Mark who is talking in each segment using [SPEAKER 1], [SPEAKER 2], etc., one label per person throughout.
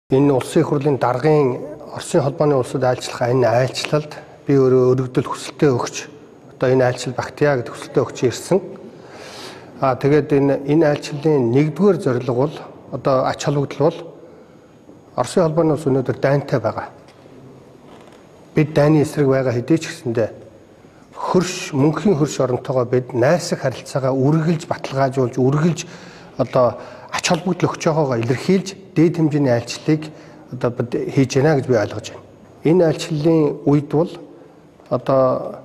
[SPEAKER 1] Энэ улсын их хурлын даргын Оросын холбооны улсад айлчлах энэ айлчлалд би өөрөө өргөдөл хүсэлтээ өгч одоо энэ айлчлал багтъя гэдэг хүсэлтээ өгч ирсэн. Тэгээд энэ айлчлалын нэгдүгээр зорилго бол одоо ач холбогдол бол Оросын холбооны улс өнөөдөр дайнтай байгаа. Бид дайны эсрэг байгаа хэдий ч гэсэндээ хөрш мөнхийн хөрш оронтойгоо бид найрсаг харилцаагаа үргэлж баталгаажуулж үргэлж одоо ач холбогдол өгч байгаагаа илэрхийлж дээд хэмжээний айлчлалыг одоо бид хийж байна гэж би ойлгож байна. Энэ айлчлалын үед бол одоо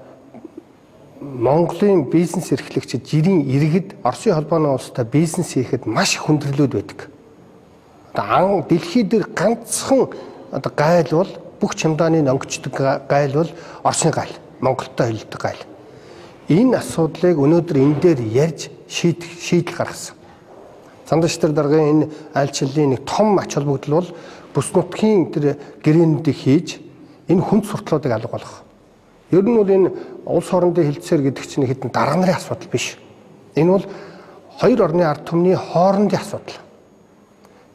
[SPEAKER 1] Монголын бизнес эрхлэгчид жирийн иргэд Оросын холбооны улстай бизнес хийхэд маш их хүндрэлүүд байдаг. Одоо дэлхий дээр ганцхан одоо гайл бол бүх чемдааны өнгөчдөг гайл бол Оросын гайл, Монголтой хэлдэг гайл. Энэ асуудлыг өнөөдөр энэ дээр ярьж шийдэл гаргасан. Цандаштар даргын энэ айлчлалын нэг том ач холбогдол бол бүс нутгийн тэр гэрээнүүдийг хийж энэ хүнд сурталуудыг алга болгох. Ер нь бол энэ улс хоорондын хилцээр гэдэг чинь хэдэн дарга нарын асуудал биш. Энэ бол хоёр орны ард түмний хоорондын асуудал.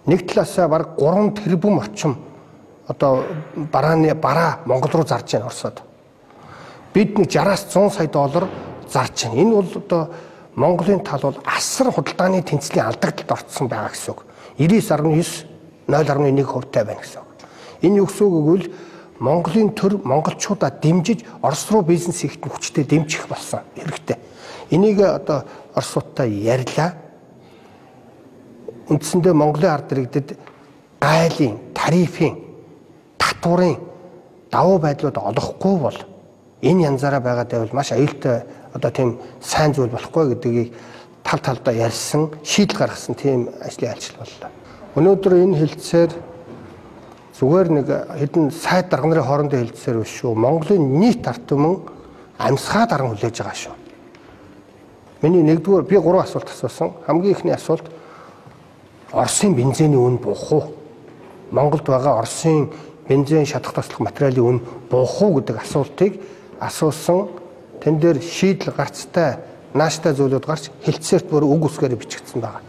[SPEAKER 1] Нэг талаасаа бараг 3 тэрбум орчим одоо бараа Монгол руу зарж байна Оросод. Бид нэг 60-аас 100 сая доллар зарж байна. Энэ бол одоо Монголын тал бол асар худалдааны тэнцлийн алдагдлалд орцсон байгаа гэсэн үг. 99.9 0.1% байна гэсэн үг. Энэ юу гэсэн үг гэвэл Монголын төр монголчуудаа дэмжиж Орос руу бизнес хийхэд хүчтэй дэмжих болсон хэрэгтэй. Энийг одоо Оросуудтай ярьлаа. Үндсэндээ Монголын ард иргэдэд гайлын, тарифын, татварын давуу байдлууд олохгүй бол энэ янзаараа байгаад байвал маш аюултай одоо тийм сайн зүйл болохгүй гэдгийг тал талдаа ярьсан, шийдэл гаргасан тийм ажлын айлчлал боллоо. Өнөөдөр энэ хэлцээр зүгээр нэг хэдэн сайд дарга нарын хоорондын хэлцээр биш шүү. Монголын нийт ард түмэн амьсгаа даран хүлээж байгаа шүү. Миний нэгдүгээр би 3 асуулт асуусан. Хамгийн ихний асуулт Оросын бензиний үн буух уу? Монголд байгаа Оросын бензин шатах тослох материалын үн буух уу гэдэг асуултыг асуусан. Тэн дээр шийдэл гарцтай нааштай зүйлүүд гарч хэлцээрт бүр үг үсгээр бичигдсэн байна.